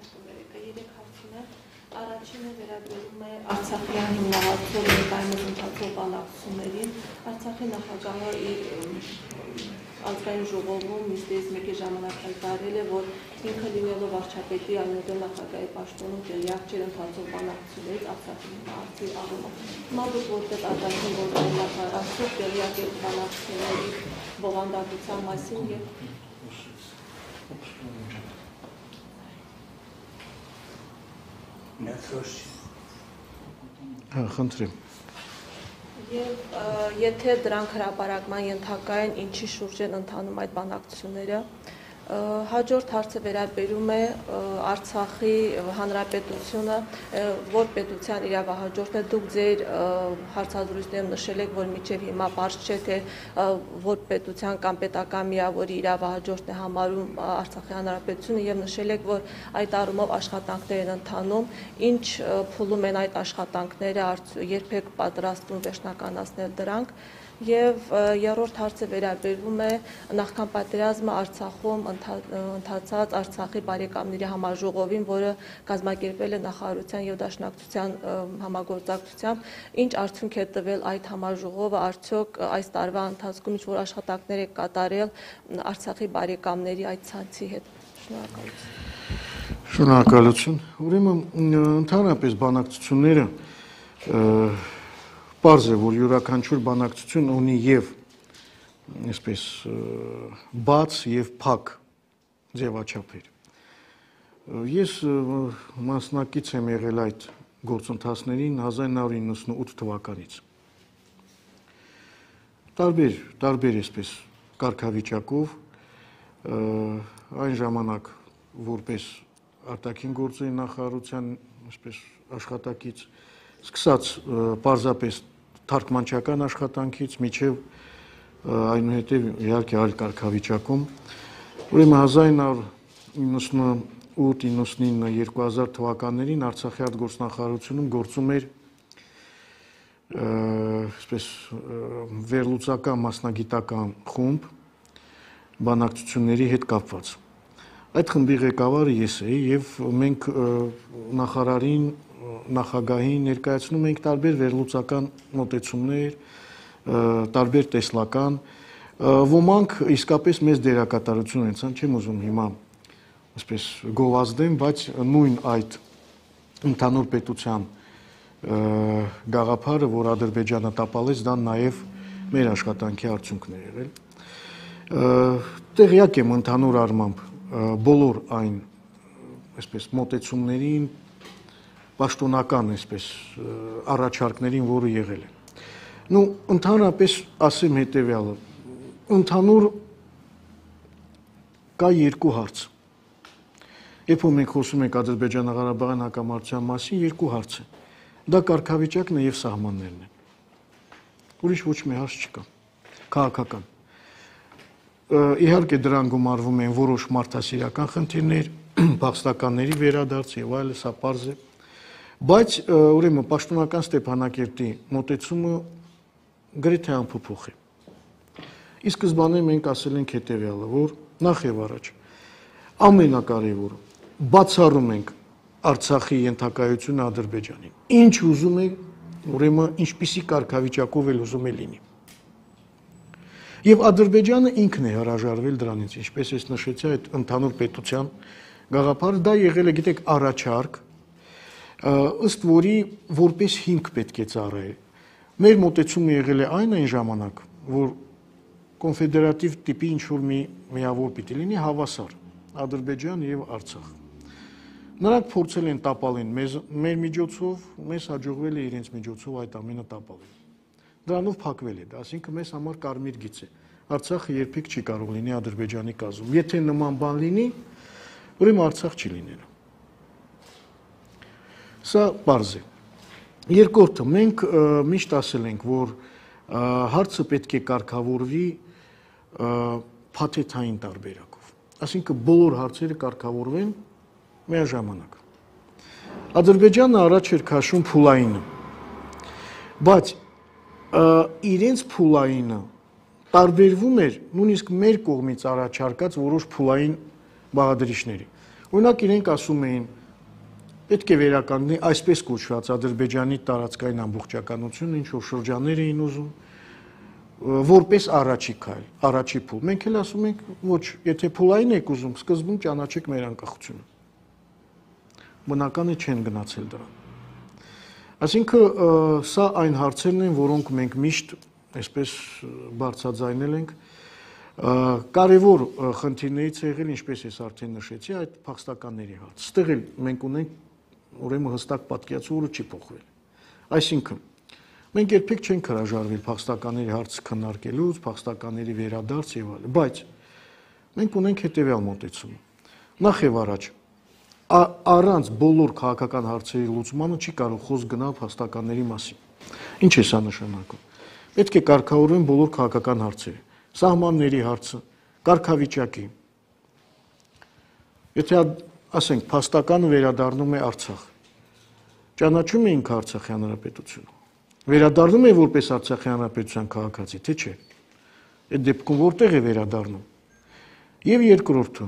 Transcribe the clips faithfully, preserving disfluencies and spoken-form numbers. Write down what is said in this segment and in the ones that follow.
Երեք հարցին է, առաջինը վերաբերում է Արցախյան հիմնահատվող ներկայումս ընթացող բանակցություններին։ Արցախի նախագահը ազգային ժողովում նիստից մեկի ժամանակ հայտարարել է, որ ինքը լինելով վարչապետի այլմոդել նախագահի պաշտոնում տեղյակ չէր ընթացող բանակցություններից Արցախի հարցի առումով։ Հիմա դուք որպես արտաքին գործերի նախարար արդյոք տեղյակ եք բանակցությունների բովանդակության մասին եւ Խնդրեմ։ Եվ եթե դրանք հրապարակման ենթակա են, ինչի շուրջ են ընթանում այդ բանակցությունները, հաջորդ հարցը վերաբերում է Արցախի հանրապետությունը, որ պետության իրավահաջորդն է, դուք ձեր հարցազրույցներում նշել եք, որ մինչև հիմա պարզ չէ, թե որ պետության կամ պետական միավորի իրավահաջորդն է համարում Արցախի հանրապետությունը եւ նշել եք, որ այդ առումով աշխատանքներ են ընթանում, ինչ փուլում են այդ աշխատանքները, երբեք պատրաստվում վերջնականացնել դրանք։ Եվ երրորդ հարցը վերաբերում է նախքան պատերազմը Արցախում ընթացած Արցախի բարեկամների համաժողովին, որը կազմակերպվել է նախարարության եւ դաշնակցության համագործակցությամբ, ինչ արդյունք է տվել այդ համաժողովը, արդյոք այս տարվա ընթացքում ինչ որ աշխատանքներ է կատարել Արցախի բարեկամների այդ ցանցի հետ։ Շնորհակալություն։ Շնորհակալություն։ Ուրեմն ընդհանրապես բանակցությունները պարզ է, որ յուրաքանչյուր բանակցություն ունի եւ այսպես բաց եւ փակ ձևաչափեր։ Ես մասնակից եմ եղել այդ գործընթացներին հազար նույն հարյուր իննսունութ թվականից։ Տարբեր, տարբեր այսպես կարգավիճակով այն ժամանակ որպես արտաքին գործերի նախարարության այսպես աշխատակից սկսած պարզապես թարգմանչական աշխատանքից միջև այնուհետև իհարկե այլ կարգավիճակում ուրեմն հազար նույն հարյուր իննսունութ իննսունինը երկու հազար թվականներին Արցախի արտգործնախարարությունում գործում էր այսպես վերլուծական մասնագիտական խումբ բանակցությունների հետ կապված։ Այդ խմբի ղեկավարը ես էի եւ մենք նախարարին նախագահին ներկայացնում ենք տարբեր վերլուծական մոտեցումներ, տարբեր տեսլական, ոմանք իսկապես մեծ դերակատարություն ունեցան, չեմ ուզում հիմա այսպես գովազդեմ, բայց նույն այդ ընդհանուր պետության գաղափարը, որ Ադրբեջանը տապալեց, դա նաև մեր աշխատանքի արդյունքն է եղել։ Տեղյակ եմ ընդհանուր առմամբ բոլոր այն այսպես մոտեցումներին, պաշտոնական այսպես առաջարկներին, որը եղել է։ Նու ընդհանրապես ասեմ հետևյալը, ընդհանուր կա երկու հարց։ Երբ որ մենք խոսում ենք Ադրբեջանա-Ղարաբաղյան հակամարտության մասին, երկու հարց է։ Դա կարգավիճակն է եւ սահմաններն են։ Ուրիշ ոչ մի հարց չկա։ Քաղաքական։ Իհարկե դրան գումարվում են որոշ մարդասիրական խնդիրներ, փախստականների վերադարձ եւ այլն, սա պարզ է։ Բայց ուրեմն պաշտոնական Ստեփանակերտի մոտեցումը գրեթե անփոփոխ է։ Ի սկզբանե մենք ասել ենք հետեւյալը, որ նախ եւ առաջ ամենակարևորը բացառում ենք Արցախի ենթակայությունը Ադրբեջանին։ Ինչ ուզում է, ուրեմն ինչպիսի կարգավիճակով էլ ուզում է լինի։ Եվ Ադրբեջանը ինքն է հրաժարվել դրանից, ինչպես ես նշեցի, այդ ընդհանուր պետության գաղափարը դա եղել է, գիտեք, առաջարկ, ըստ որի որպես հիմք պետք է ծառայել։ Մեր մոտեցումը եղել է այն այն ժամանակ, որ կոնֆեդերատիվ տիպի ինչ-որ մի միավոր պիտի լինի հավասար Ադրբեջան եւ Արցախ։ Նրանք փորձել են տապալեն մեզ, մեր միջոցով, մեզ հաջողվել է իրենց միջոցով այդ ամենը տապալել։ Դրանով փակվել է դա, այսինքն մեզ համար կարմիր գիծ է։ Արցախը երբեք չի կարող լինի Ադրբեջանի կազմում։ Եթե նման բան լինի, ուրեմն Արցախ չի լինելու։ Սա պարզ է։ Երկրորդը, մենք միշտ ասել ենք, որ հարցը պետք է կարգավորվի փաթեթային տարբերակով։ Այսինքն բոլոր հարցերը կարգավորվեն միաժամանակ։ Ադրբեջանը առաջ էր քաշում փուլայինը, բայց իրենց փուլայինը տարբերվում էր նույնիսկ մեր կողմից առաջարկած որոշ փուլային բաղադրիչների։ Օրինակ իրենք ասում էին, պետք է վերականգնի այսպես կոչված Ադրբեջանի տարածքային ամբողջականությունը, ինչ որ շրջաններ էին ուզում, որպես առաջի քայլ, առաջի փուլ։ Մենք էլ ասում ենք, ոչ, եթե փուլային եք ուզում, սկզբում ճանաչեք մեր անկախությունը։ Բնական է չեն գնացել դրան։ Այսինքն սա այն հարցերն են, որոնք մենք միշտ այսպես բարձրաձայնել ենք։ Կարևոր խնդիրներից է եղել, ինչպես ես արդեն նշեցի, այդ փախստականների հարցը։ Ստեղ էլ մենք ունենք ուրեմն հստակ պատկերացում, որը չի փոխվել։ Այսինքն մենք երբեք չենք հրաժարվել փախստականների հարցը քննարկելուց, փախստականների վերադարձ եւ այլն, բայց մենք ունենք հետեւյալ մոտեցումը։ Նախ եւ առաջ առանց բոլոր քաղաքական հարցերի լուծմանը չի կարող խոսք գնալ փախստականների մասին։ Ինչ է սա նշանակում։ Պետք է կարգավորվեն բոլոր քաղաքական հարցերը, սահմանների հարցը, կարգավիճակի։ Եթե ասենք փախստականը վերադառնում է Արցախ, ճանաչում է ինքը Արցախի հանրապետությունը, վերադառնում է որպես Արցախի հանրապետության քաղաքացի, թե չէ։ Այդ դեպքում որտեղ է վերադառնում։ Եվ երկրորդը,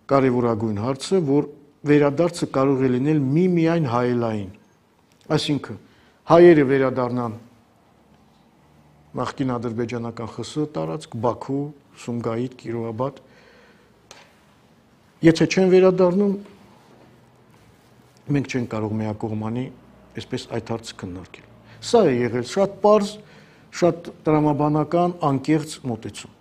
կարևորագույն հարցը, որ վերադարձը կարող է լինել միմիայն հայելային, այսինքն հայերը վերադառնան նախկին ադրբեջանական ԽՍՀ տարածք, Բաքու, Սումգայիթ, Կիրովաբադ, եթե չեն վերադառնում, մենք չենք կարող միակողմանի այսպես այդ հարցը քննարկել։ Սա է եղել շատ պարզ, շատ տրամաբանական, անկեղծ մոտեցում։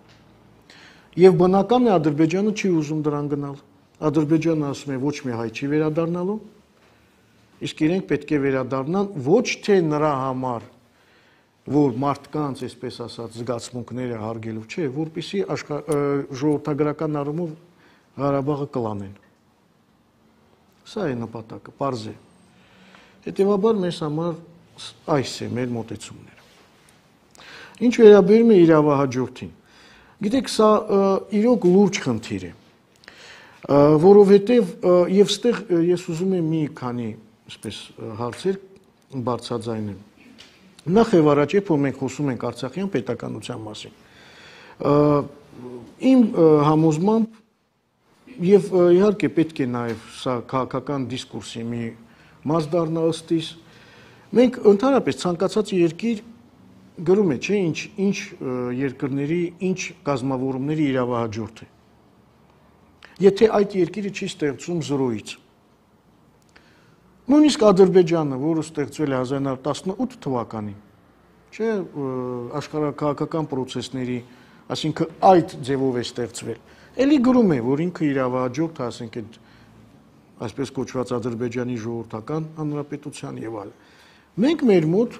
Եվ բնական է Ադրբեջանը չի ուզում դրան գնալ։ Ադրբեջանը ասում է ոչ մի հայ չի վերադառնալու, իսկ իրենք պետք է վերադառնան ոչ թե նրա համար, որ մարդկանց, այսպես ասած, զգացմունքները հարգելու չէ, որպեսզի ժողովրդագրական առումով Ղարաբաղը կլանեն։ Սա է նպատակը, պարզ է։ Հետևաբար մեզ համար այս է մեր մոտեցումները։ Ինչ վերաբերում է իրավահաջորդին, գիտեք, սա իրոք լուրջ խնդիր է, որովհետև եւ ստեղ ես ուզում եմ մի քանի այսպես հարցեր բարձրաձայնել։ Նախ եւ առաջ, երբ որ մենք խոսում ենք Արցախյան պետականության մասին, իմ համոզմամբ եւ իհարկե պետք է նաեւ սա քաղաքական դիսկուրսի մի մաս դառնա ըստիս, մենք ընդհանրապես ցանկացած երկիր գրում է, չէ, ինչ ինչ երկրների, ինչ կազմավորումների իրավահաջորդ է։ Եթե այդ երկիրը չի ստեղծում զրոյից։ Նույնիսկ Ադրբեջանը, որը ստեղծվել է հազար նույն հարյուր տասնութ թվականին, չէ, աշխարհակաղակական պրոցեսների, այսինքն այդ ձևով է ստեղծվել, էլի գրում է, որ ինքը իրավահաջորդ է, ասենք այդ այսպես կոչված Ադրբեջանի ժողովրդական հանրապետության եւ այլն։ Մենք մեր մոտ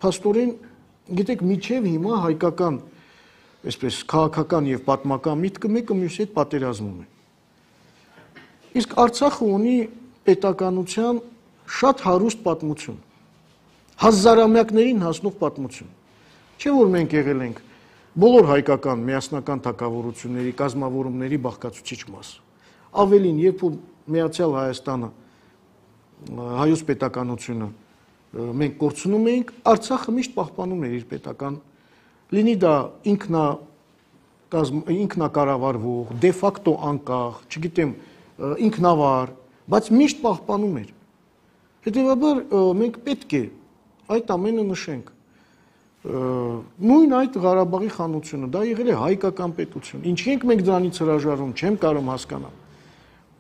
փաստորեն, գիտեք, միջև հիմա հայկական, այսպես քաղաքական եւ պատմական միտքը մեկը մյուսի հետ պատերազմում է։ Իսկ Արցախը ունի պետականության շատ հարուստ պատմություն, հազարամյակներին հասնող պատմություն։ Չէ՞ որ մենք եղել ենք բոլոր հայկական միասնական թագավորությունների կազմավորումների բաղկացուցիչ մաս։ Ավելին, երբ որ Միացյալ Հայաստանը, հայոց պետականությունը մենք կորցնում էինք, Արցախը միշտ պահպանում էր իր պետական, լինի դա ինքնա ինքնակառավարվող, դե ֆակտո անկախ, չգիտեմ, ինքնավար, բայց միշտ պահպանում էր։ Հետևաբար մենք պետք է այդ ամենը նշենք։ Նույն այդ Ղարաբաղի խանությունը, դա եղել է հայկական պետություն։ Ինչի ենք մենք դրանից հրաժարվում, չեմ կարող հասկանալ։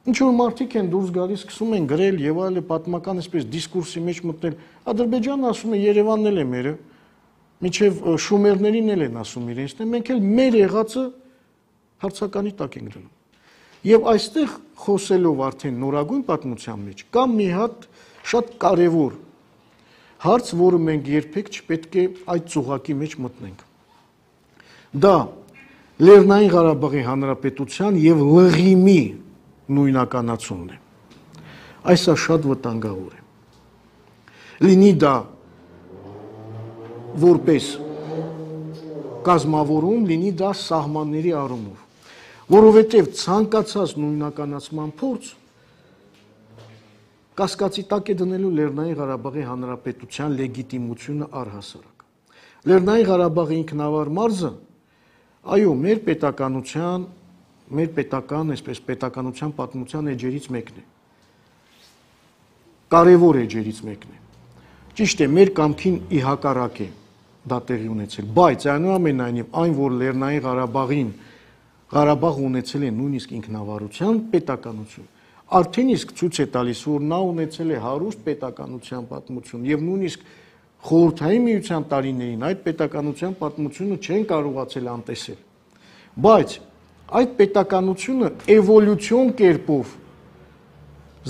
Ինչ որ մարդիկ են դուրս գալիս, սկսում են գրել եւ այլը, պատմական այսպես դիսկուրսի մեջ մտնել։ Ադրբեջանը ասում է Երևանն էլ է մերը, միջև շումերներին էլ են ասում իրենցն, մենք էլ մեր եղածը հարցականի տակ ենք դնում։ Եվ այստեղ խոսելով արդեն նորագույն պատմության մեջ կա մի հատ շատ կարևոր հարց, որը մենք երբեք չպետք է այդ ծուղակի մեջ մտնենք։ Դա Լեռնային Ղարաբաղի Հանրապետության եւ Լղիմի նույնականացումն է։ Այսա շատ վտանգավոր է։ Լինի դա որպես կազմավորում, լինի դա սահմանների առումով, որովհետև ցանկացած նույնականացման փորձ կասկածի տակ է դնելու Լեռնային Ղարաբաղի Հանրապետության լեգիտիմությունը առհասարակ։ Լեռնային Ղարաբաղի ինքնավար մարզը, այո, մեր պետականության մեր պետական, այսպես պետականության պատմության էջերից մեկն է։ Կարևոր էջերից մեկն է։ Ճիշտ է, մեր կամքին ի հակառակ է դա տեղի ունեցել, բայց այնուամենայնիվ այն, որ Լեռնային Ղարաբաղին Ղարաբաղը ունեցել է նույնիսկ ինքնավարության պետականություն, արդեն իսկ ցույց է տալիս, որ նա ունեցել է հարուստ պետականության պատմություն եւ նույնիսկ Խորհրդային Միության տարիներին այդ պետականության պատմությունը չեն կարողացել անտեսել։ Բայց այդ պետականությունը էվոլյուցիոն կերպով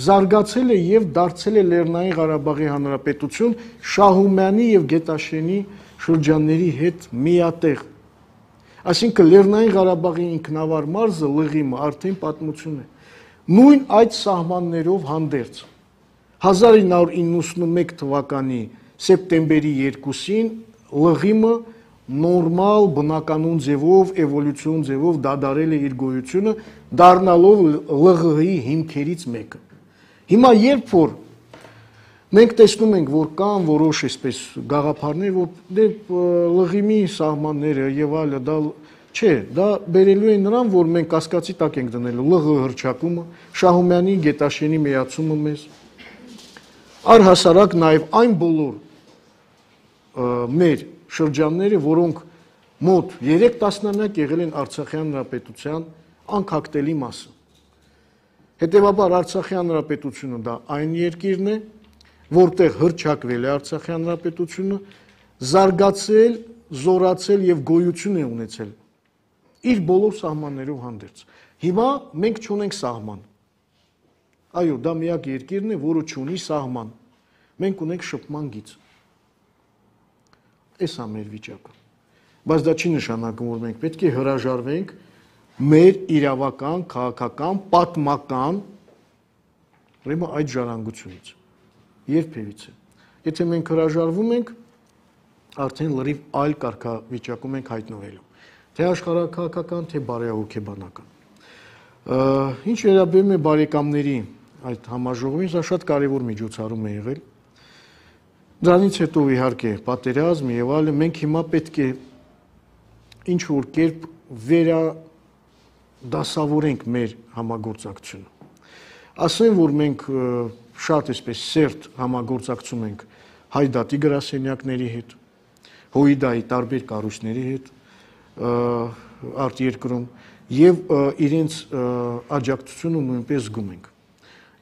զարգացել է եւ դարձել է Լեռնային Ղարաբաղի Հանրապետություն Շահումյանի եւ Գետաշենի շրջանների հետ միատեղ։ Այսինքն Լեռնային Ղարաբաղի ինքնավար մարզը Լղիմը արդեն պատմություն է։ Նույն այդ սահմաններով հանդերձ հազար ինը հարյուր իննսունմեկ թվականի սեպտեմբերի երկուսին Լղիմը նորմալ բնականոն ձևով, էվոլյուցիոն ձևով դադարել է իր գոյությունը, դառնալով ԼՂՀ-ի հիմքերից մեկը։ Հիմա երբ որ մենք տեսնում ենք, որ կան որոշ այսպես գաղափարներ, որ դե Լղիմի սահմանները եւ այլը դա չէ, դա բերելու է նրան, որ մենք կասկածի տակ ենք դնելու ԼՂՀ հռչակումը, Շահումյանի, Գետաշենի միացումը մեզ, առհասարակ նաեւ այն բոլոր մեր շրջանները, որոնք մոտ երեք տասնամյակ եղել են Արցախյան Հանրապետության անկախտելի մասը։ Հետևաբար Արցախի Հանրապետությունը դա այն երկիրն է, որտեղ հռչակվել է Արցախի Հանրապետությունը, զարգացել, զորացել եւ գոյություն է ունեցել իր բոլոր սահմաններով հանդերձ։ Հիմա մենք չունենք սահման։ Այո, դա միակ երկիրն է, որը չունի սահման։ Մենք ունենք շփման գիծ։ Այս է մեր վիճակը։ Բայց դա չի նշանակում, որ մենք պետք է հրաժարվենք մեր իրավական, քաղաքական, պատմական ուրեմն այդ ժառանգությունից։ Երբևիցե։ Եթե մենք հրաժարվում ենք, արդեն լրիվ այլ կարգավիճակում ենք հայտնվելու։ Թե աշխարհաքաղաքական, թե բարեհոգեբանական։ Ինչ վերաբերում է բարեկամների այդ համաժողովին, սա շատ կարևոր միջոցառում է եղել։ Դրանից հետո իհարկե պատերազմ եւ այլն, մենք հիմա պետք է ինչ որ կերպ վերադասավորենք մեր համագործակցությունը։ Ասեմ, որ մենք շատ այսպես սերտ համագործակցում ենք Հայդատի գրասենյակների հետ, Հույդայի տարբեր կառույցների հետ արտերկրում եւ իրենց աջակցությունը նույնպես զգում ենք։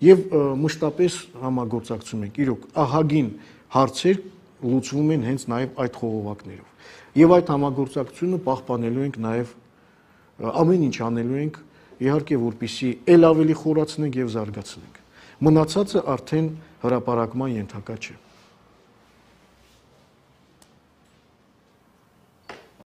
Եվ մշտապես համագործակցում ենք։ Իրոք ահագին հարցեր լուծվում են հենց նաև այդ խողովակներով։ Եվ այդ համագործակցությունը պահպանելու ենք նաև ամեն ինչ անելու ենք, իհարկե, որպեսզի ել ավելի խորացնենք եւ զարգացնենք։ Մնացածը արդեն հրապարակման ենթակա չէ։